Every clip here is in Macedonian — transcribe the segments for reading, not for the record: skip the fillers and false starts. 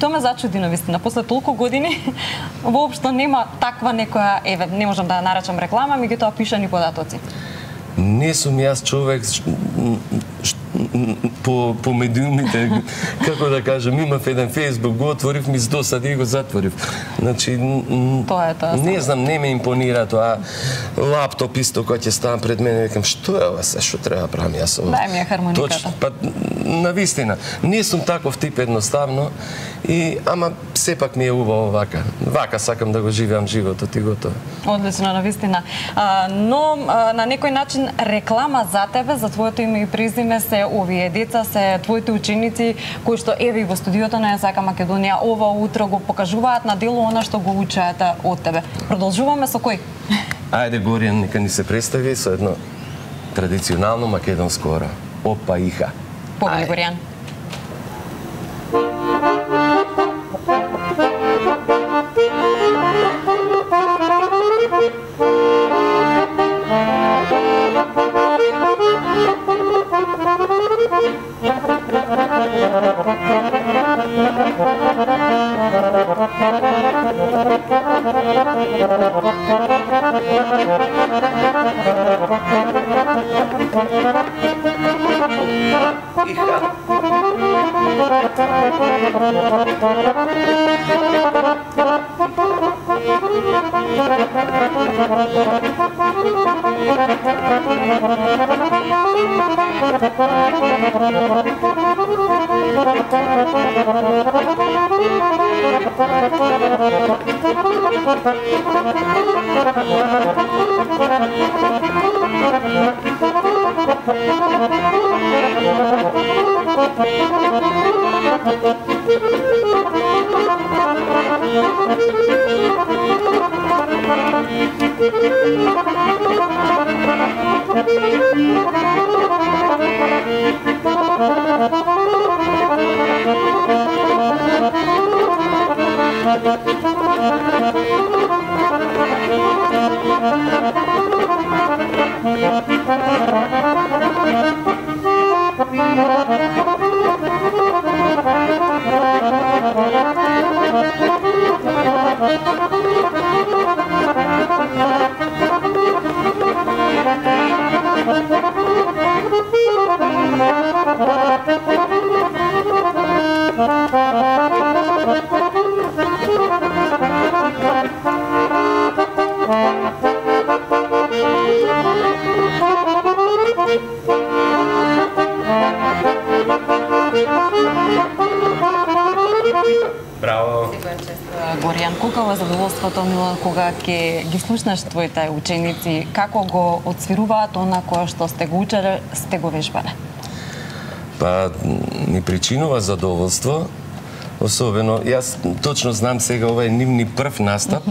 Тоа ме зачуди навистина. После толку години воопшто нема таква некоја, еве, не можам да ја наречам реклама, меѓутоа пишани податоци. Не сум јас човек по медиумите, како да кажам, имав еден Facebook, го отворив, ми здосади и го затворив. Значи, тоа е тоа. Не знам, не ме импонира тоа. Лаптоп исто кој ќе ставам пред мене, викам, што е ова се, што треба правам јас ова? Дај ми ја хармониката. Па, навистина, не сум таков тип едноставно, ама сепак ми е убаво вака. Вака сакам да го живеам животот и готово. Одлично, навистина. Но на некој начин реклама за тебе, за твоето име и презиме се овие деца, се твоите ученици кои што еве во студиото на ЕСАК Македонија ова утро го покажуваат на дело она што го учат од тебе. Продолжуваме со кој? Ајде, Горијан, нека ни се представи со едно традиционално македонско ора. Опа иха. Повели, Горијан. Браво! Горијан, колку е задоволството, Милан, кога ќе ги слушнеш твоите ученици, како го отсвируваат она кое што сте го учеле, сте го вежбале? Па, ми причинува задоволство, особено, јас точно знам сега ова е нивни прв настап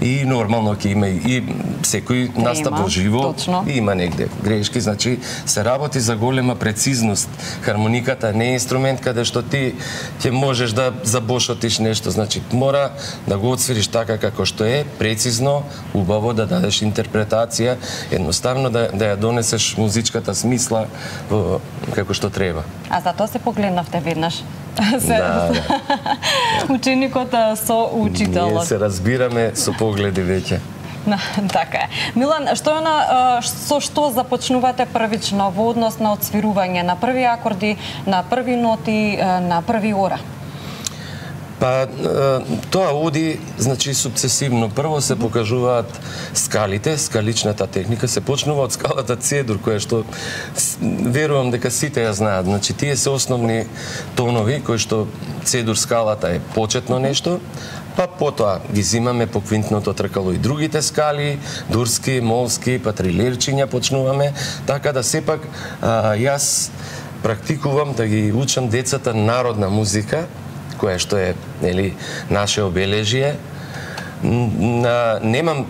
и нормално ќе има и секој настап во живо има негде грешки, значи се работи за голема прецизност. Хармониката не е инструмент каде што ти ќе можеш да забошотиш нешто, значи мора да го отсвириш така како што е, прецизно, убаво да дадеш интерпретација, едноставно да ја донесеш музичката смисла како што треба. А затоа се погледнавте веднаш. Да. Ученикот со учителот. Ние се разбираме со погледи веќе. Така е. Милан, со што започнувате првично во однос на отсвирување на први акорди, на први ноти, на први ора? Па, тоа оди, значи, сукцесивно. Прво се покажуваат скалите, скаличната техника, се почнува од скалата C-дур, која што верувам дека сите ја знаат. Значи, тие се основни тонови, кои што C-дур скалата е почетно нешто, па потоа ги зимаме по квинтното тркало и другите скали, дурски, молски, па трилирчиња почнуваме, така да сепак јас практикувам да ги учам децата народна музика, која што е, нели, наше обележие, немам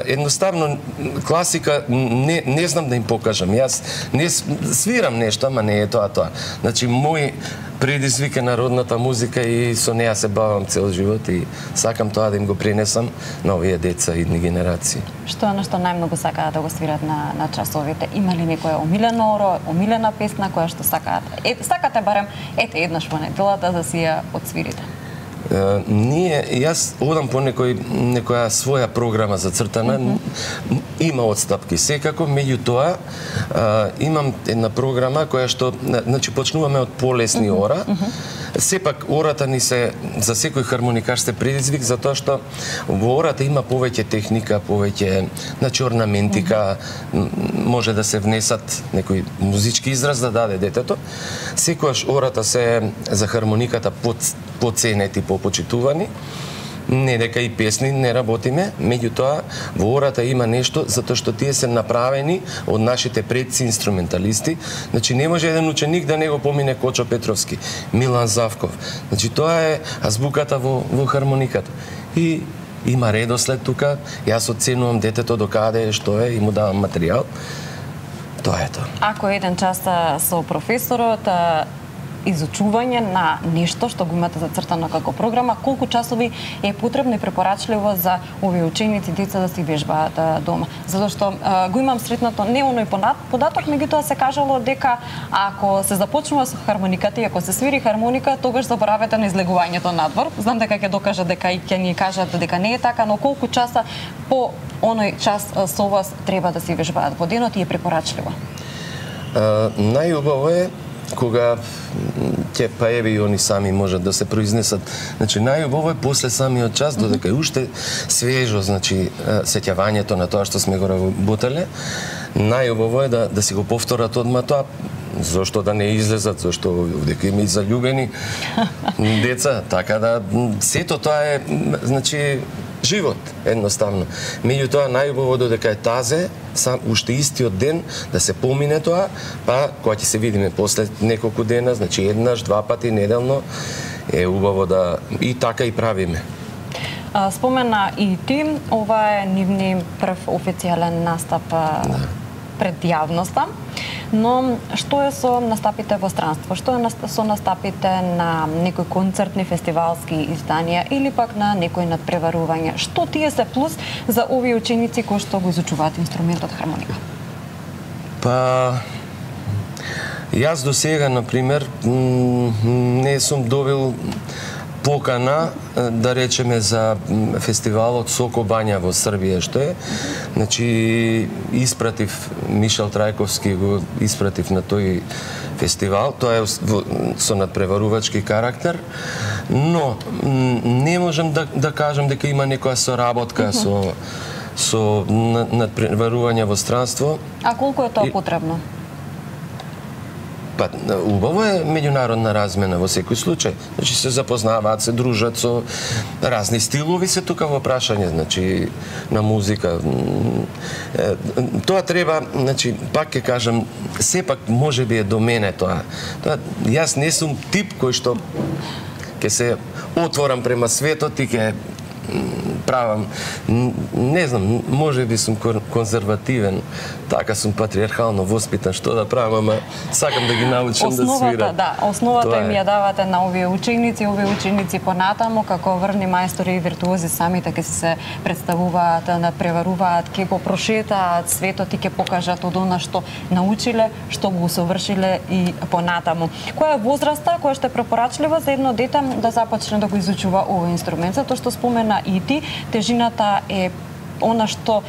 едноставно класика не знам да им покажам. Јас не свирам нешто, ама не е тоа. Значи мој предизвик е народната музика и со неа се бавам цел живот и сакам тоа да им го пренесам на овие деца и идни генерации. Што е нешто најмногу сакаат да го свират на часовите? Има ли некоја омилена омилена песна која што сакаат? Сакате барем еднаш во неделата да си ја отсвирите? Јас одам по некоја своја програма зацртана, има отстапки секако, меѓутоа имам една програма која што, значи почнуваме од полесни ора, сепак ората ни се за секој хармоникар се предизвик затоа што во ората има повеќе техника, повеќе орнаментика, може да се внесат некој музички израз да даде детето. Секогаш ората се за хармониката поценети, попочитувани. Не дека и песни не работиме, меѓутоа во ората има нешто затоа што тие се направени од нашите предци инструменталисти. Значи не може еден ученик да не го помине Кочо Петровски, Милан Завков. Значи тоа е азбуката во хармониката. И има редослед тука, јас оценувам детето до каде е, што е и му давам материјал. Тоа е тоа. Ако еден час со професорот изучување на нешто што го имате зацртано како програма, колку часови е потребно и препорачливо за овие ученици, деца да си вежбаат дома? Затоа што го имам сретнато не оној податок, меѓутоа се кажало дека ако се започнува со хармониката и ако се свири хармоника, тогаш заборавете на излегувањето надвор. Знам дека ќе докажат дека и ќе ни кажат дека не е така, но колку часа по оној час со вас треба да си вежбаат во денот и е препорачливо? Најубаво е кога ќе паеви и они сами можат да се произнесат. Значи најубаво е после самиот час додека е уште свежо, значи сеќавањето на тоа што сме го работеле. Најубаво е да си го повторат одма тоа. Зошто да не излезат, зошто дека има и заљубени деца, така да сето тоа е, значи живот, едноставно. Меѓутоа најубаво додека е тазе, уште истиот ден да се помине тоа, па кога ќе се видиме после неколку дена, значи еднаш, два пати неделно, е убаво да и така и правиме. Спомена и ти, ова е нивни прв официјален настап пред јавноста. Но што е со настапите во странство? Што е со настапите на некои концертни фестивалски изданија или пак на некои надпреварување? Што тие се плюс за овие ученици кои што го изучуваат инструментот хармоника? Па јас до сега, например, не сум добил покана, да речеме, за фестивалот Соко Бања во Србија, што е. Значи, испратив Мишел Трајковски, го испратив на тој фестивал. Тоа е со надпреварувачки карактер, но не можам да кажам дека има некоја соработка со надпреварување во странство. А колку е тоа потребно? Па, убаво е меѓународна размена во секој случај. Значи се запознаваат, се дружат со разни стилови се тука во прашање, значи на музика. Тоа треба, значи пак ќе кажам, сепак можеби е до мене тоа. Јас не сум тип кој што ќе се отворам према светот и ќе правам, не знам, можеби сум конзервативен, така сум патриархално воспитан, што да правам, ама сакам да ги научам да свирам. Основата им ја давате на овие ученици понатаму, како врвни мајстори и виртуози самите ќе се представуваат, надпреваруваат, ќе го прошетаат светот и ќе покажат од она што научиле, што го усовршиле и понатаму. Која е возраста која што е препорачлива за едно дете да започне да го изучува овој инструмент? Затоа што спомена и ти, тежината е она што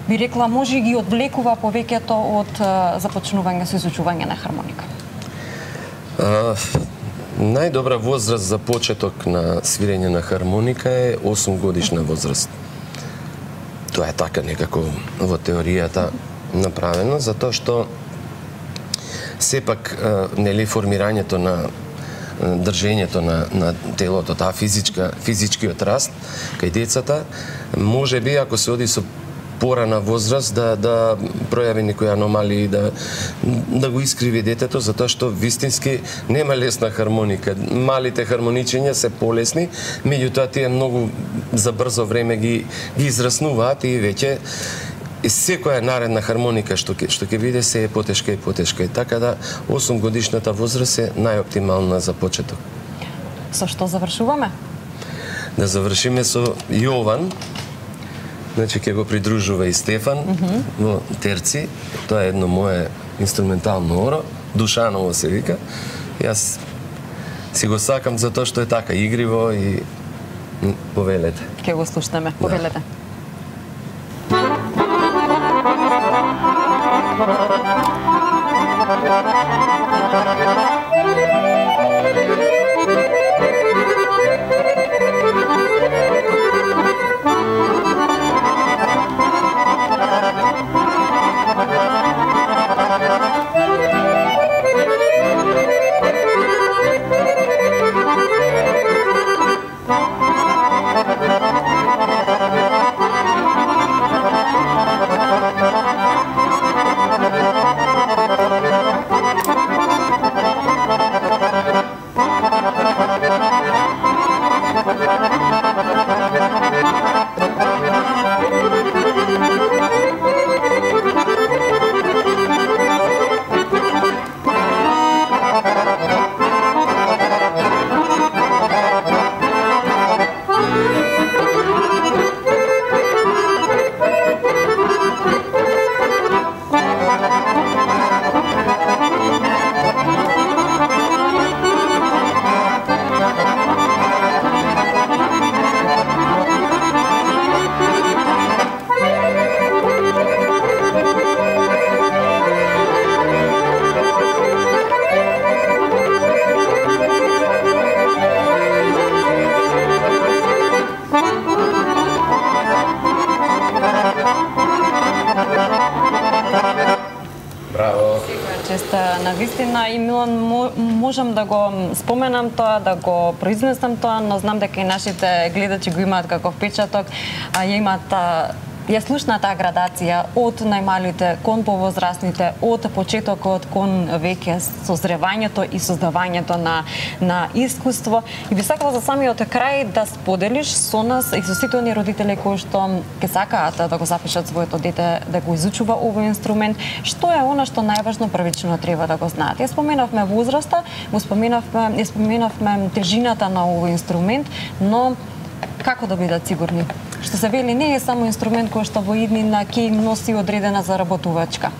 би рекла може ги одвлекува повеќето од започнување со изучување на хармоника. Најдобра возраст за почеток на свирење на хармоника е 8 годишна возраст. Тоа е така некако во теоријата направено, затоа што сепак нели формирањето на држењето на телото, таа физичкиот раст кај децата, може би ако се оди со порана возраст да пројави некои аномалии, да го искриви детето, затоа што вистински нема лесна хармоника. Малите хармоничења се полесни, меѓутоа тие многу за брзо време ги израснуваат и веќе секоја наредна хармоника што ќе биде се е потешка и потешка. Така да 8 годишната возраст е најоптимална за почеток. Со што завршуваме? Да завршиме со Јован. Значи ќе го придружува и Стефан во терци. Тоа е едно мое инструментално оро, Душаново се вика. Јас си го сакам за тоа што е така игриво и повелете. Ќе го слушнеме, повелете. Навистина и Милан, можам да го споменам тоа, да го произнесам тоа, но знам дека и нашите гледачи го имаат како впечаток, ја имаат ја слушна таа градација од најмалите кон повозрастните, од почетокот кон веќе созревањето и создавањето на искуство. И би сакала за самиот крај да споделиш со нас и со сите оние родители кои што ќе сакаат да го запишат своето дете да го изучува овој инструмент, што е она што најважно првично треба да го знаат. Ја споменавме возраста, споменавме тежината на овој инструмент, но како да бидат сигурни? Што се вели, не е само инструмент кој што во иднина ќе им носи одредена заработувачка.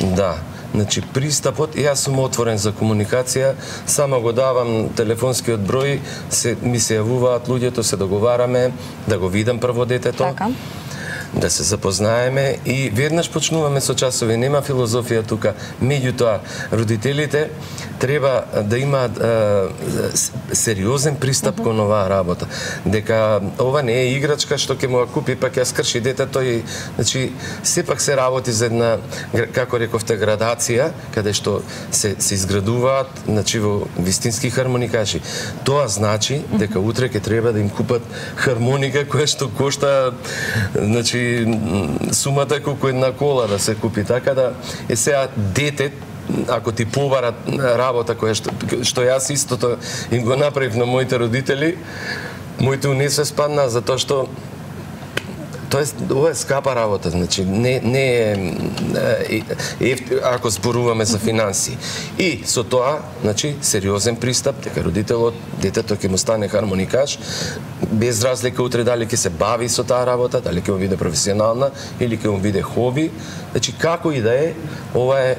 Да, значи пристапот, јас сум отворен за комуникација, само го давам телефонскиот број, ми се јавуваат луѓето, се договараме да го видам прво детето. Така. Да се запознаеме и веднаш почнуваме со часови, нема филозофија тука. Меѓутоа, родителите треба да имаат сериозен пристап кон оваа работа. Дека ова не е играчка што ќе му ја купи па ќе ја скрши детето и значи сепак се работи за една, како рековте, градација каде што се изградуваат, значи во вистински хармоникаши. Тоа значи дека утре ќе треба да им купат хармоника која што кошта, значи сумата колку една кола да се купи, така да е сега дете, ако ти побара работа која што јас истото им го направив на моите родители, моите унесе спадна затоа што ова е скапа работа, значи не е ако зборуваме за финанси. И со тоа, значи сериозен пристап дека родителот, детето ќе му стане хармоникаш, без разлика утре дали ќе се бави со таа работа, дали ќе му биде професионална или ќе му биде хоби, значи како и да е, ова е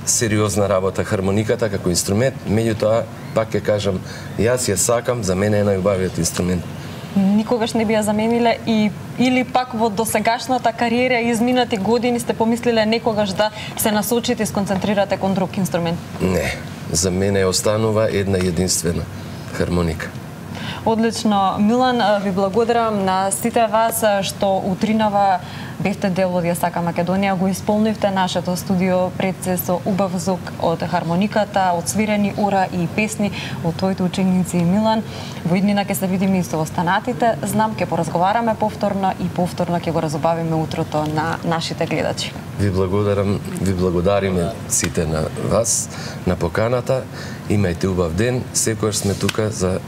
сериозна работа хармониката како инструмент, меѓутоа пак ќе кажам, јас ја сакам, за мене е најубавиот инструмент. Никогаш не би ја замениле или пак во досегашната кариера и изминати години сте помислиле некогаш да се насочите и сконцентрирате кон друг инструмент? Не, за мене останува една единствена хармоника. Одлично. Милан, ви благодарам на сите вас што утринава бевте дел од Јасака Македонија, го исполнивте нашето студио пред се со убав звук од хармониката, од свирени ура и песни од твоите ученици и Милан. Во иднина ќе се видиме и со останатите. Знам, ќе поразговараме повторно и повторно ќе го разубавиме утрото на нашите гледачи. Ви благодариме сите на вас, на поканата. Имајте убав ден, секогаш сме тука за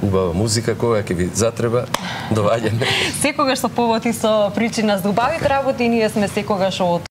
убава музика, кога ќе ви затреба, доваѓаме. Секогаш со повод и со причина за убавите работи, ние сме секогаш од